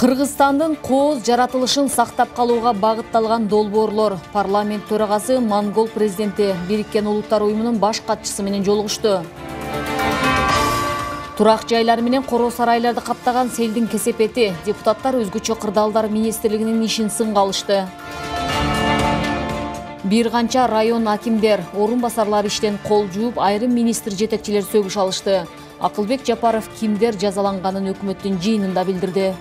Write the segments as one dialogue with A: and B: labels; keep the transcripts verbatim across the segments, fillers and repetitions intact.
A: Кыргызстандын кооз жаратылышын сактап калууга багытталган долбоорлор парламент төрагасы Монгол президенти Бириккен Улуттар уюмунун баш катчысы менен жолугушту. Турак жайлар менен короо сарайларды каптаган селдин кесепети депутаттар өзгөчө кырдаалдар министрлигинин ишин сынга алышты. Бир канча район акимдер, орун басарлар иштен кол жууп, айрым министр жетекчилер сөгүш алышты. Акылбек Жапаров кимдер жазаланганын өкмөттүн жыйынында билдирди.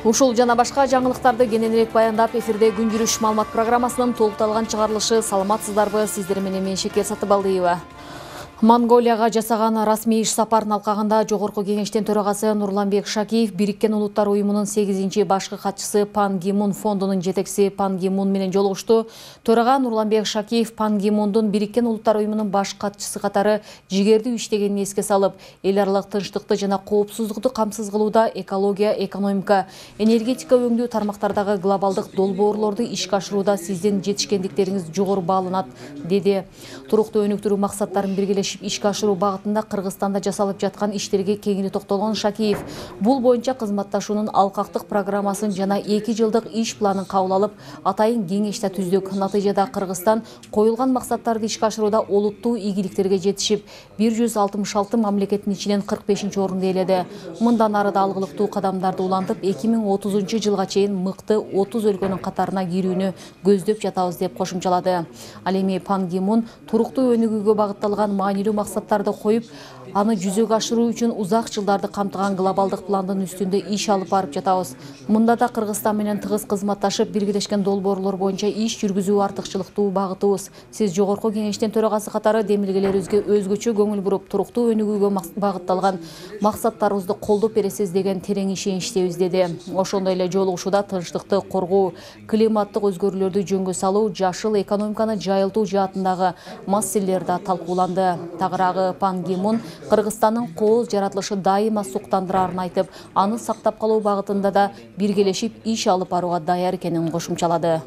A: Ушул жана башка жаңылыктарды кененирээк баяндап, эфирде Күн жүрүш маалымат программасынын толукталган чыгарылышы. Саламатсыздарбы? Сиздер менен мен Шекер Сатыбалдиева. Монголияга жасаган расмий иш сапарынын алкагында Жогорку кеңештин төрагасы Нурланбек Шакиев Бириккен Улуттар уюмунун сегизинчи башкы катчысы Пан Ги Мун фондунун жетекчиси Пан Ги Мун менен жолугушту. Төрага Нурланбек Шакиев Пан Ги Мундун Бириккен Улуттар уюмунун баш катчысы катары жигердүү иштегенин эске салып, эл аралык тынчтыкты жана коопсуздукту камсыз кылууда экология, экономика, энергетика өңдүү тармактардагы глобалдык долбоорлорду ишке ашырууда сиздин жетишкендиктериңиз жогору бааланат, деди. Туруктуу өнүктүрүү максаттарын биргелешип ишке ашыруу багытында Кыргызстанда жасалып жаткан иштерге кеңири токтолгон Шакиев бул боюнча кызматташуунун алкактык программасын жана эки жылдык иш планын кабыл алып, атайын кеңеш да түздүк. Натыйжада Кыргызстан коюлган максаттарды ишке ашырууда олуттуу ийгиликтерге жетишип, бир жүз алтымыш алты мамлекеттин ичинен кырк бешинчи орунду ээледи. Мындан ары да алгылыктуу кадамдарды улантып, эки миң отузунчу жылга чейин мыкты отуз өлкөнүн катарына кирүүнү көздөп жатабыз, деп кошумчалады. Ал эми Пан Ги Мун туруктуу өнүгүүгө багытталган маанилүү максаттарды коюп, аны жүзөгө ашыруу үчүн узак жылдарды камтыган глобалдык пландын үстүндө иш алып барып жатабыз. Мында да Кыргызстан менен тыгыз кызматташып, биргелешкен долбоорлор боюнча иш жүргүзүү артыкчылыктуу багытыбыз. Сиз Жогорку кеңештин төрагасы катары демилгелерибизге өзгөчө көңүл буруп, туруктуу өнүгүүгө багытталган максаттарыбызды колдоп бересиз деген терең ишеничтебиз, деди. Ошондой эле жолугушууда тынчтыкты коргоо, климаттык өзгөрүүлөрдү жөнгө салуу, жашыл экономиканы жайылтуу жаатындагы маселелер да талкууланды. Тагыраагы Пан Ги Мун Кыргызстандын кооз жаратылышы дайыма суктандырарын айтып, аны сактап калуу багытында да биргелешип иш алып барууга даяр экенин кошумчалады.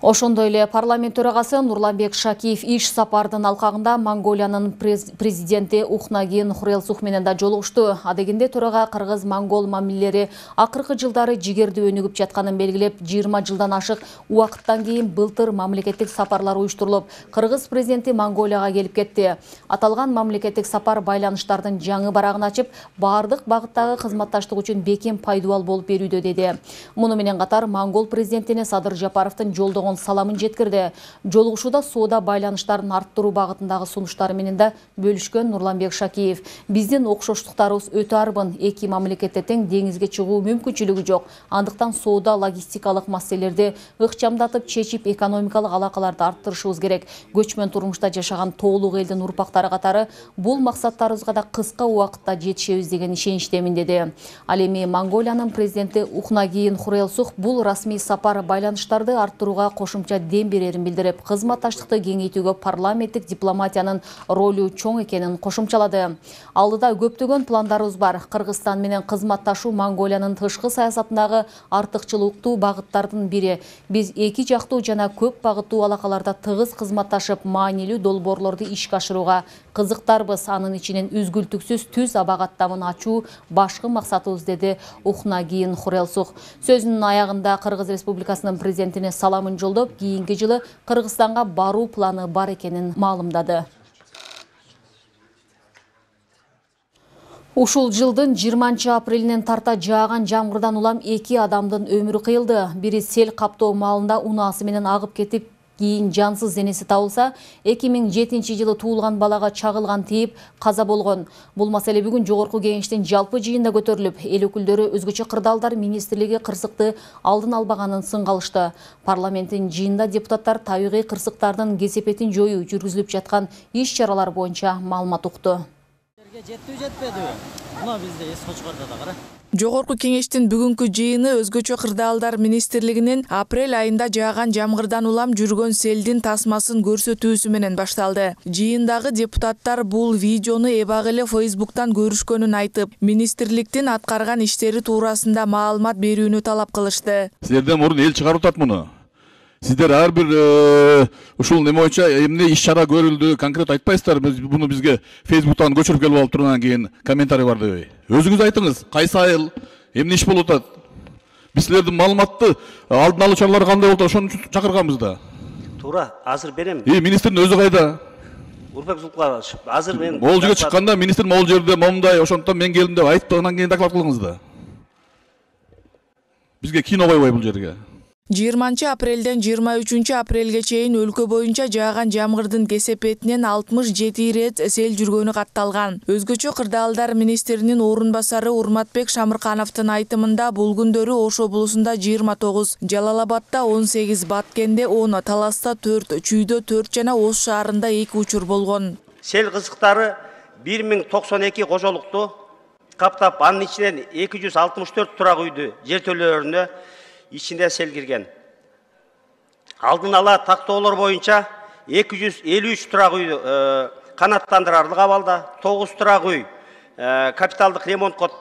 A: Ошондой эле парламент төрагасы Нурланбек Шакиев иш сапардын алкагында Монголиянын президенти Ухнаагийн Хурэлсух менен да жолугушту. Адегенде төрага кыргыз-монгол мамилелери акыркы жылдары жигердүү өнүгүп жатканын белгилеп, жыйырма жылдан ашык убакыттан кийин былтыр мамлекеттик сапарлар уюштурулуп, кыргыз президенти Монголияга келип кетти. Аталган мамлекеттик сапар байланыштардын жаңы барагын ачып, баардык багыттагы кызматташтык үчүн бекем пайдубал болуп берүүдө, деди. Муну менен катар монгол президентине Садыр Жапаровдун жолдогон саламын жеткирди. Жолугушууда соода байланыштарын арттыруу багытындагы сунуштары менен да бөлүшкөн Нурланбек Шакиев. Биздин окшоштуктарыбыз өтө арбын, эки мамлекетте тең деңизге чыгуу мүмкүнчүлүгү жок. Андыктан соода логистикалык маселелерди ыкчамдатып чечип, экономикалык алакаларды арттырышыбыз керек. Көчмөн турмушта жашаган тоолук элдин урпактары катары бул максаттарыбызга да кыска убакытта жетишебиз деген ишеничтемин, деди. Ал эми Монголиянын президенти Ухнаагийн Хурэлсух бул расмий сапар байланыштарды арттырууга кошумча дем берерин билдирип, кызматташтыкты кеңейтүүгө парламенттик дипломатиянын ролу чоң экенин кошумчалады. Алдыда көптөгөн пландарыбыз бар. Кыргызстан менен кызматташуу Монголиянын тышкы саясатындагы артыкчылыктуу багыттардын бири. Биз эки жактуу жана көп багыттуу алакаларда тыгыз кызматташып, маанилүү долбоорлорду ишке ашырууга кызыктарбыз. Анын ичинен үзгүлтүксүз түз аба каттамын ачуу башкы максатыбыз, деди Ухнаагийн Хурэлсух. Сөзүнүн аягында Кыргыз Республикасынын президентине саламын жолдоп, кийинки жылы Кыргызстанга баруу планы бар экенин маалымдады. Ушул жылдын жыйырманчы апрелинен тарта жааган жамгырдан улам эки адамдын өмүрү кыйылды. Бири сел каптоо маалында унаасы менен агып кетип, кийин жансыз денеси табылса, эки миң жетинчи жылы туулган балага чагылган тийип каза болгон. Бул маселе бүгүн Жогорку кеңештин жалпы жыйынында көтөрүлүп, эл өкүлдөрү өзгөчө кырдаалдар министрлиги кырсыкты алдын албаганын сынга алышты. Парламенттин жыйынында депутаттар табигый кырсыктардын кесепетин жоюу жүргүзүлүп жаткан иш чаралар боюнча маалымат укту.
B: Жеттиби жетпедиби? Мына бизде эс кочкордо да кара.
C: Жогорку кеңештин бүгүнкү жыйыны өзгөчө кырдаалдар министрлигинин апрель айында жааган жамгырдан улам жүргөн селдин тасмасын көрсөтүүсү менен башталды. Жыйындагы депутаттар бул видеону эбак эле Фейсбуктан көрүшкөнүн айтып, министрликтин аткарган иштери туурасында маалымат берүүнү талап кылышты.
D: Силерден мурун эл чыгарып атат муну. Сиздер ар бир ушул неме боюнча эмне иш чара көрүлдү, конкрет айтпайсыздар. Биз буну бизге Facebook'тан көчүрүп келип алып тургандан кийин комментарий бар дебей. Өзүңүз айтыңыз, кайсы айыл, эмне иш болуп атат? Биз силердин маалыматты алдын алуу чаралары кандай болуп атат, ошону үчүн чакырганбыз да.
E: Туура, азыр берем.
D: И министрдин өзү кайда?
E: Урбек Зулкулович, азыр мен
D: Могул жерге чыкканда министр могул жерде момундай, ошондуктан мен келдим деп айтып, анан кийин доклад кылыңыз да. Бизге кино койбой бул жерге.
C: жыйырманчы апрелден жыйырма үчүнчү апрелге чейин өлкө боюнча жааган жамгырдын кесепетинен алтымыш жети ирет сел жүргөнү катталган. Өзгөчө кырдаалдар министринин орун басары Урматбек Шамыркановдун айтымында бул күндөрү Ош облусунда жыйырма тогуз, Жалал Абадда он сегиз, Баткенде он, Таласта төрт, Чүйдө төрт жана Ош шаарында эки учур болгон.
E: Сел кызыктары бир миң токсон эки кожолукту каптап, анын ичинен эки жүз алтымыш төрт турак үйдү жертөлөлөрүнө ичинде сел кирген. Алдын ала тактоолор боюнча эки жүз элүү үч турак үй канаттандырарлык абалда, тогуз турак үй капиталдык ремонтко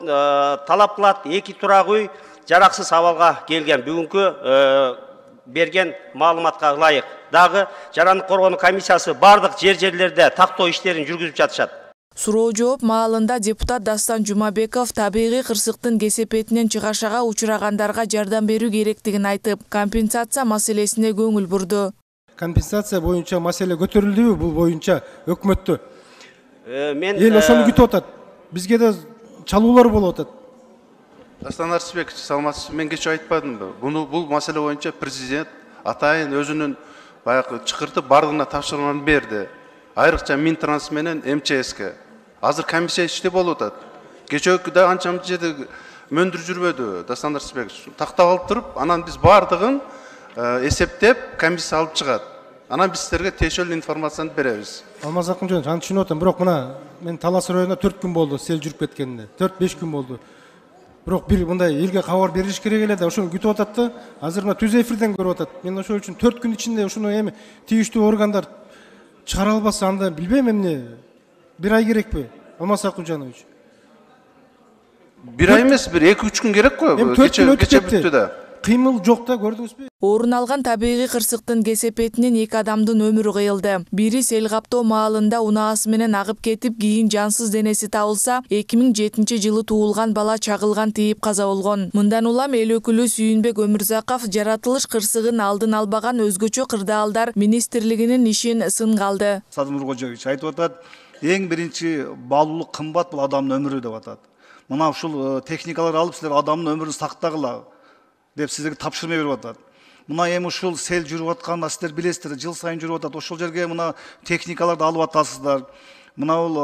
E: талап кылат, эки турак үй жараксыз абалга келген. Бүгүнкү берген маалыматка ылайык. Дагы жарандык коргонуу комиссиясы бардык жер-жерлерде тактоо иштерин жүргүзүп жатышат.
C: Суроо жооп маалында депутат Дастан Жумабеков табигый кырсыктын кесепетинен чыгашага учурагандарга жардам берүү керектигин айтып, компенсация маселесине көңүл бурду.
F: Компенсация боюнча маселе көтөрүлдүбү бул боюнча өкмөттө?
E: Мен
F: эл ошону күтүп атат. Бизге да чалуулар болуп атат.
G: Дастан Арсыбекович, саламатсызбы? Мен кечээ айтпадымбы? Буну бул маселе боюнча президент атайын өзүнүн баягы чакыртып бардыгына тапшырманы берди. Айрыкча Минтранс менен эм че эске. Азыр комиссия иштеп болуп атат. Кечөөкү да анча мынча жерде мөндүр жүрбөдү Дастан Арсыбекович. Тактап алып туруп, анан биз бардыгын эсептеп комиссия алып чыгат. Анан биз силерге тиешелүү информацияны беребиз.
F: Алмаз Акынжанович, аны түшүнүп атам, бирок мына мен Талас районуна төрт күн болду сел жүрүп кеткенине. төрт беш күн болду. Бирок бир мындай элге кабар бериш керек эле да, ошону күтүп атат да. Азыр мына түз эфирден көрүп атат. Мен ошол үчүн төрт күн ичинде ушуну эми тийиштүү органдар чыгара албаса анда билбейм эмне. Бир ай керекпи? Алмаз Акынжанович.
G: Бир ай эмес, бир эки үч күн керек го.
F: Кече
G: кече бүттү да.
F: Кыймыл жок да, көрдүңүзбү?
C: Орун алган табигый кырсыктын кесепетинен эки адамдын өмүрү кыйылды. Бири сел каптоо маалында унаасы менен агып кетип, кийин жансыз денеси табылса, эки миң жетинчи жылы туулган бала чагылган тийип каза болгон. Мындан улам эл өкүлү Сүйүнбек Өмүрзаков жаратылыш кырсыгын алдын албаган өзгөчө кырдаалдар министрлигинин ишин сынга алды.
H: Садыр Нуркожоевич айтып атат, эң биринчи баалуулук кымбат бул адамдын өмүрү деп атат. Мына ушул техникалар алып силер адамдын өмүрүн сактагыла деп сиздерге тапшырма берип атат. Мына эми ушул сел жүрүп атканда сиздер билесиздер, жыл сайын жүрүп атат. Ошол жерге мына техникаларды алып атасыздар. Мына бул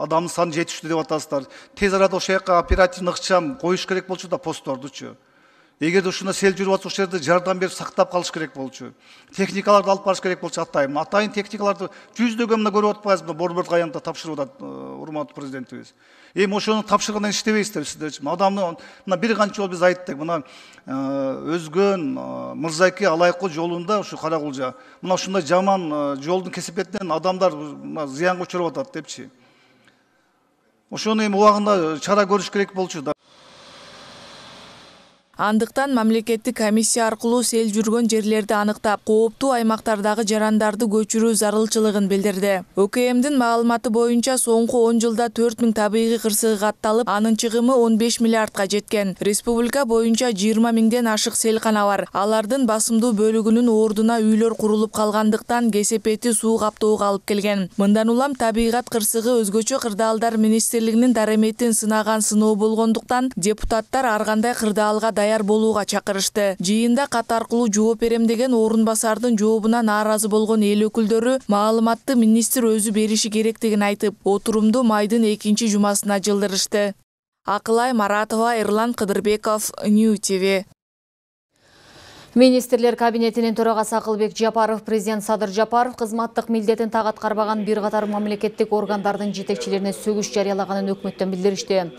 H: адамдын саны жетиштүү деп атасыздар. Тез арада ошол жака оперативный ыкчам коюш керек болчу да посттордучу. Эгерде ушуна сел жүрүп атса, ошол жерде жардам берип сактап калыш керек болчу. Техникаларды алып барыш керек болчу атайын. Атайын техникаларды жүздөгөн мына көрүп атпайсызбы? Борбордук аянтта тапшырып атат урматтуу президентибиз. Эми ошону тапшыргандан иштебейсиздер сиздерчи. Адамды мына бир канча жолу биз айттык. Мына Өзгөн Мырзаке Алайкы жолунда ушу Каракулжа. Мына ушундай жаман жолдун кесепетинен адамдар зыянга учуруп атат депчи. Ошону эми убагында чара көрүш керек болчу да.
C: Андыктан мамлекеттик комиссия аркылуу сел жүргөн жерлерди аныктап, кооптуу аймактардагы жарандарды көчүрүү зарылчылыгын билдирди. О К Мдин маалыматы боюнча соңку он жылда төрт миң табигый кырсыгы катталып, анын чыгымы он беш миллиардка жеткен. Республика боюнча жыйырма миңден ашык селкана бар. Алардын басымдуу бөлүгүнүн ордуна үйлөр курулуп калгандыктан кесепети суу каптоого алып келген. Мындан улам табигат кырсыгы өзгөчө кырдаалдар министрлигинин дареметин сынаган сыноо болгондуктан депутаттар ар кандай кырдаалга даяр болууга чакырышты. Жыйында кат аркылуу жооп берем деген орун басардын жообуна нааразы болгон эл өкүлдөрү маалыматты министр өзү бериши керектигин айтып, отурумду майдын экинчи жумасына жылдырышты. Акылай Маратова, Эрлан Кыдырбеков, Нью Ти Ви.
A: Министрлер кабинетинин төрагасы Акылбек Жапаров, президент Садыр Жапаров кызматтык милдетин так аткарбаган бир катар мамлекеттик органдардын жетекчилерине сөгүш жарыялаганын өкмөттөн билдиришти.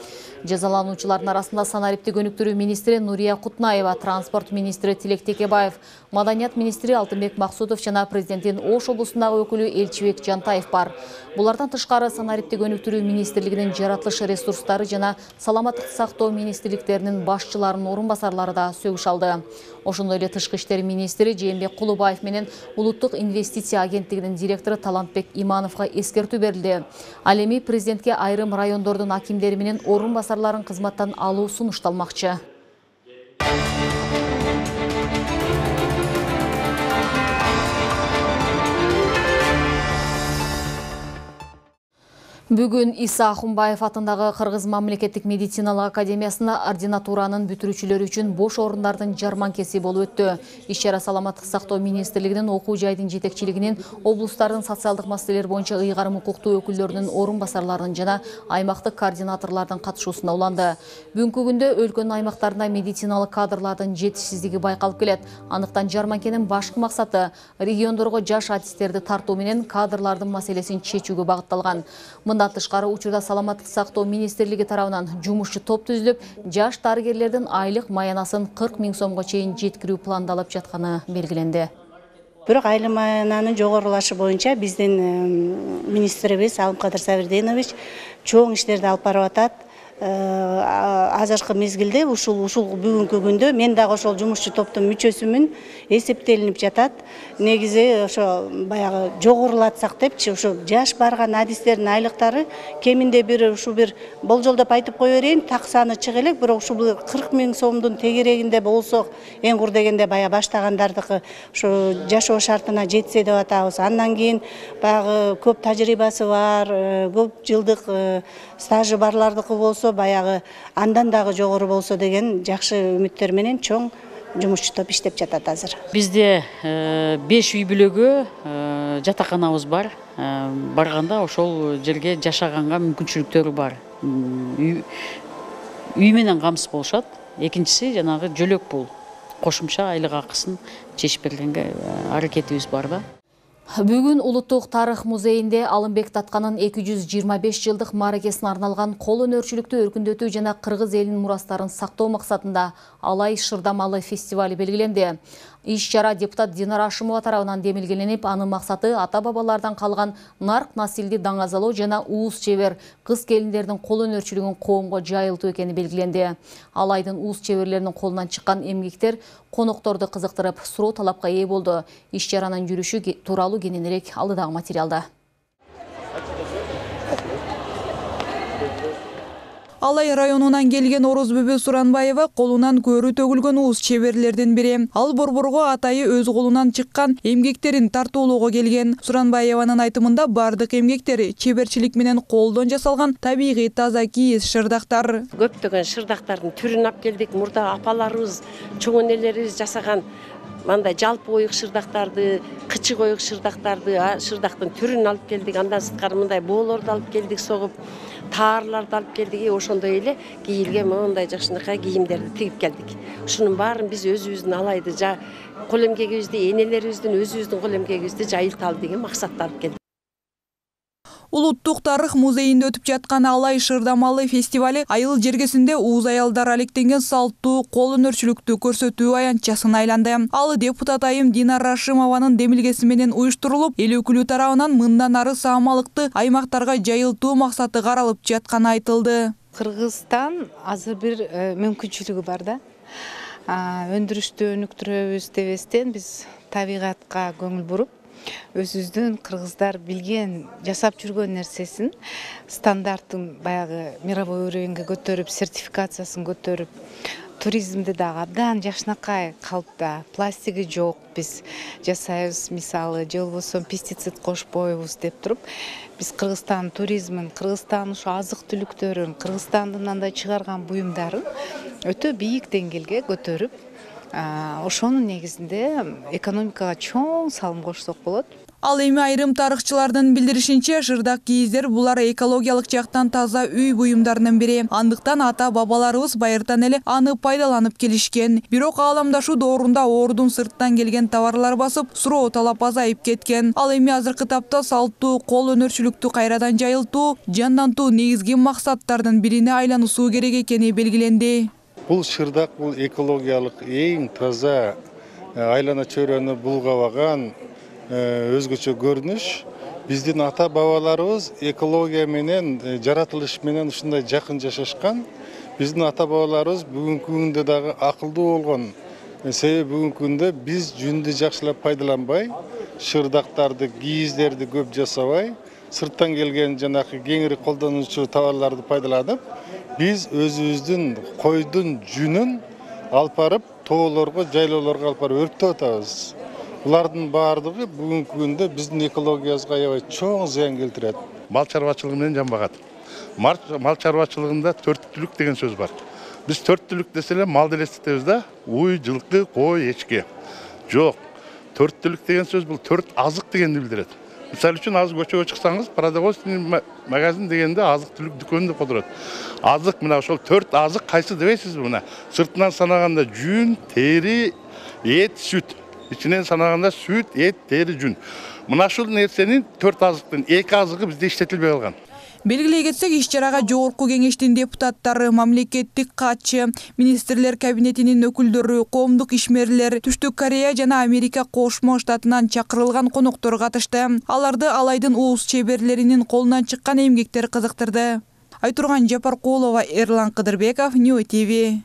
A: Жазалануучулардын арасында санариптик өнүктүрүү министри Нурия Кутнаева, транспорт министри Тилек Текебаев, маданият министри Алтынбек Максутов жана президенттин Ош облусундагы өкүлү Элчибек Жантаев бар. Булардан тышкары санариптик өнүктүрүү министрлигинин жаратылыш ресурстары жана саламаттыкты сактоо министрликтеринин башчыларынын орун басарлары да сөгүш алды. Ошондой эле эле Тышкы иштер министри Жээнбек Кулубаев менен Улуттук инвестиция агенттигинин директору Талантбек Имановго эскертүү берилди. Ал эми президентке айрым райондордун акимдери менен орун басарларын кызматтан алуу сунушталмакчы. Бүгүн Иса Ахунбаев атындагы Кыргыз мамлекеттик медициналык академиясында ординатуранын бүтүрүүчүлөрү үчүн бош орундардын жарманкеси болуп өттү. Иш-чара Саламаттык сактоо министрлигинин окуу жайдын жетекчилигинин, облустардын социалдык маселелер боюнча ыйгарым укуктуу өкүлдөрүнүн орун басарларынын жана аймактык координаторлордун катышуусунда уланды. Бүгүнкү күндө өлкөнүн аймактарында медициналык кадрлардын жетишсиздиги байкалып келет. Андыктан жарманкенин башкы максаты региондорго жаш артисттерди тартуу менен кадрлардын маселесин чечүүгө багытталган. Мындан тышкары учурда Саламаттык сактоо министрлиги тарабынан жумушчу топ түзүлүп, жаш дарыгерлердин айлык маянасын кырк миң сомго чейин жеткирүү пландалып жатканы белгиленди.
I: Бирок айлык маянанын жогорулашы боюнча биздин министрибиз Алымкадыр Сабирденович чоң иштерди алып барып атат. Азыркы мезгилде ушул ушул бүгүнкү күндө мен дагы ошол жумушчу топтун мүчөсүмүн, эсептелинип жатат. Негизи ошо баягы жогорулатсак депчи, ошо жаш барган адистердин айлыктары кеминде бир ушу бир болжолдоп айтып кое берейин, так саны чыга элек, бирок ушул бир кырк миң сомдун тегерегинде болсо, эң кур дегенде бая баштагандардыкы ошо жашоо шартына жетсе деп атабыз. Андан кийин баягы көп тажрыйбасы бар, көп жылдык стажы барлардыкы болсо, баягы андан дагы жогору болсо деген жакшы үмүттөр менен чоң жумушчу топ иштеп жатат азыр.
J: Бизде беш үй бүлөгү жатаканабыз бар. Барганда ошол жерге жашаганга мүмкүнчүлүктөрү бар. Үй менен камсыз болушат. Экинчиси жанагы жөлөк пул. Кошумча айлык акысын чечип бергенге аракетибиз бар да.
A: Бүгүн Улуттук тарых музейинде Алымбек Татканын эки жүз жыйырма беш жылдык мааракесине арналган кол өнөрчүлүктү өркүндөтүү жана кыргыз элинин мурастарын сактоо максатында Алай Шырдамалы фестивали белгиленди. Иш-чара депутат Динара Ашымова тарабынан демилгеленип, анын максаты ата-бабалардан калган нарк насилди даңазалоо жана уус чебер кыз келиндердин кол өнөрчүлүгүн коомго жайылтуу экени белгиленди. Алайдын уус чеберлеринин колунан чыккан эмгектер конокторду кызыктырып, суроо талапка ээ болду. Иш-чаранын жүрүшү тууралуу кененирээк алдыдагы материалда.
C: Алай районунан келген Орозбүбү Суранбаева колунан көрү төгүлгөн уус чеберлердин бири. Ал борборго атайы өз колунан чыккан эмгектерин тартуулоого келген. Суранбаеванын айтымында бардык эмгектер чеберчилик менен колдон жасалган табигый таза кийиз шырдактар.
K: Көптөгөн шырдактардын түрүн алып келдик. Мурда апаларыбыз, чоң энелерибиз жасаган мындай жалпы оюк шырдактарды, кычык оюк шырдактарды, шырдактын түрүн алып келдик. Андан сырткары мындай боолорду алып келдик, согуп таарларды алып келдик. Ошондой эле кийилген мындай жакшынакай кийимдерди тигип келдик. Ушунун баарын биз өзүбүздүн Алайды кол эмгегибизди, энелерибиздин өзүбүздүн кол эмгегибизди жайылталы деген максатта алып келдик.
C: Улуттук тарых музейинде өтүп жаткан Алай Шырдамалы фестивали айыл жергесинде ууз аялдар алектенген салттуу кол өнөрчүлүктү көрсөтүү аянтчасына айланды. Ал депутат айым Динара Ашымованын демилгеси менен уюштурулуп, эл өкүлү тарабынан мындан ары саамалыкты аймактарга жайылтуу максаты каралып жатканы айтылды.
L: Кыргызстан азыр бир мүмкүнчүлүгү бар да. Өндүрүштү өнүктүрөбүз дебестен биз табигатка көңүл буруп, өзүбүздүн кыргыздар билген, жасап жүргөн нерсесин стандартын баягы мировой уровеньге көтөрүп, сертификациясын көтөрүп, туризмди дагы абдан жакшынакай калыпта, пластиги жок биз жасайбыз, мисалы, же болбосо пестицид кошпойбуз деп туруп, биз Кыргызстан туризмин, Кыргызстан ушу азык түлүктөрүн, Кыргызстандын андай чыгарган буюмдарын өтө бийик деңгээлге көтөрүп, ошонун негизинде экономикага чоң салым кошсок болот.
C: Ал эми айрым тарыхчылардын билдиришинче, шырдак кийиздер булар экологиялык жактан таза үй буюмдарынын бири. Андыктан ата-бабаларыбыз байыртан эле аны пайдаланып келишкен. Бирок ааламдашуу доорунда ордун сырттан келген товарлар басып, суроо талап азайып кеткен. Ал эми азыркы тапта салттуу кол өнөрчүлүктү кайрадан жайылтуу, жандантуу негизги максаттардын бирине айлануусу керек экени белгиленди.
M: Бул шырдак бул экологиялык эң таза, айлана чөйрөнү булгабаган өзгөчө көрүнүш. Биздин ата-бабаларыбыз экология менен, жаратылыш менен ушундай жакын жашашкан. Биздин ата-бабаларыбыз бүгүнкү күндө дагы акылдуу болгон. Себеби бүгүнкү күндө биз жүндү жакшылап пайдаланбай, шырдактарды, кийиздерди көп жасабай, сырттан келген жанакы кеңири колдонуучу товарларды пайдаланып, биз өзүбүздүн койдун жүнүн алып барып, тоолорго, жайлоолорго алып барып өрттөп атабыз. Булардын баардыгы бүгүнкү күндө биздин экологиябызга аябай чоң зыян келтирет.
N: Мал чарбачылыгы менен жамбагат. Мал чарбачылыгында төрт түлүк деген сөз бар. Биз төрт түлүк десе эле мал элестетебиз да, уй, жылкы, кой, эчки. Жок. Төрт түлүк деген сөз бул төрт азык дегенди билдирет. Мисалы үчүн азыр көчөгө чыксаңыз, продовольственный магазин дегенде азык түлүк дүкөнү деп отурат. Азык мына ошол төрт азык кайсы дебейсизби мына? Сыртынан санаганда жүн, тери, эт, сүт. Ичинен санаганда сүт, эт, тери, жүн. Мына ушул нерсенин төрт азыктын эки азыгы бизде иштетилбей калган.
C: Белгилей кетсек, иш-чарага Жогорку Кеңештин депутаттары, мамлекеттик катчы, министрлер кабинетинин өкүлдөрү, коомдук ишмерлер, Түштүк Корея жана Америка Кошмо Штатынан чакырылган коноктор катышты. Аларды Алайдын ууз чеберлеринин колунан чыккан эмгектер кызыктырды. Айтурган Жапаркулова, Эрлан Кыдырбеков, Нью ТВ.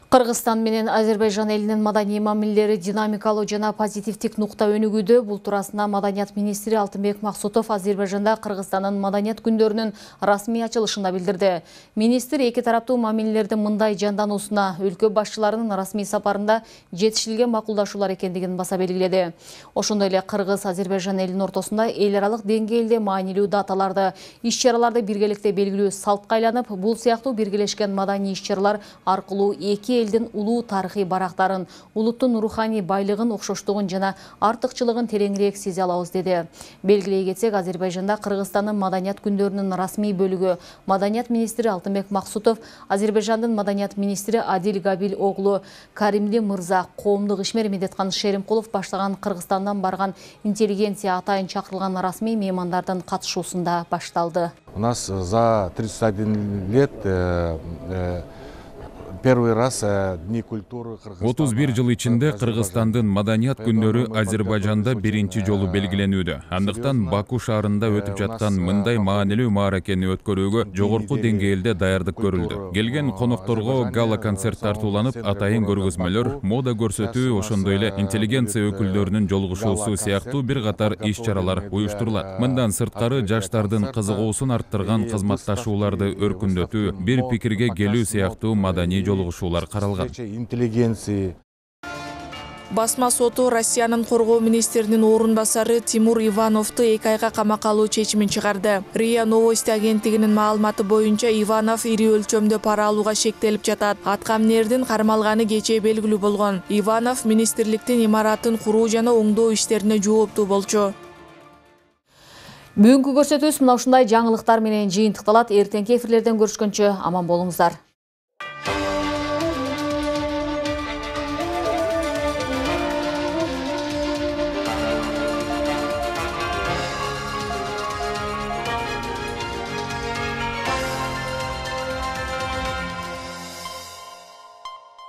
A: Кыргызстан менен Азербайжан элинин маданий мамилелери динамикалуу жана позитивдик нукта өнүгүүдө. Бул туурасында Маданият министри Алтынбек Максутов Азербайжанда Кыргызстандын маданият күндөрүнүн расмий ачылышында билдирди. Министр эки тараптуу мамилелердин мындай жандануусуна өлкө башчыларынын расмий сапарында жетишилген макулдашуулар экендигин баса белгиледи. Ошондой эле Кыргыз-Азербайжан элинин ортосунда эл аралык деңгээлде маанилүү даталарды, иш-чараларды биргеликте белгилүү салтка айланып, бул сыяктуу биргелешкен маданий иш-чаралар аркылуу эки элдин улуу тарыхый барактарын, улуттун руханий байлыгын, окшоштугун жана артыкчылыгын тереңирээк сезе алабыз деди. Белгилей кетсек, Азербайжанда Кыргызстандын маданият күндөрүнүн расмий бөлүгү Маданият министри Алтынбек Максутов, Азербайжандын маданият министри Адил Габил оглу Каримли мырза, коомдук ишмер Медеткан Шеримкулов баштаган Кыргызстандан барган интеллигенция атайын чакырылган расмий меймандардын катышуусунда башталды.
O: У нас за тридцать один лет первый раз Дни культуры Кыргызстана.
P: отуз бир жыл ичинде Кыргызстандын маданият күндөрү Азербайжанда биринчи жолу белгиленүүдө. Андыктан Баку шаарында өтүп жаткан мындай маанилүү мааракени өткөрүүгө жогорку деңгээлде даярдык көрүлдү. Келген конокторго гала-концерт тартууланып, атайын көргөзмөлөр, мода көрсөтүү, ошондой эле интеллигенция өкүлдөрүнүн жолугушуусу сыяктуу бир катар иш-чаралар уюштурулат. Мындан сырткары жаштардын кызыгуусун арттырган кызматташууларды өркүндөтүү, бир пикирге келүү сыяктуу маданий жолугушуулар каралган.
C: Басма соту Россиянын коргоо министринин орун басары Тимур Ивановду эки айга камакка алуу чечимин чыгарды. РИА Новости агенттигинин маалыматы боюнча Иванов ири өлчөмдө пара алууга шектелип жатат. Аткамнердин кармалганы кечээ белгилүү болгон. Иванов министрликтин имаратын куруу жана оңдоо иштерине жооптуу болчу.
A: Бүгүнкү көрсөтүүбүз мына ушундай жаңылыктар менен жыйынтыкталат. Эртеңки эфирлерден көрүшкөнчө аман болуңуздар.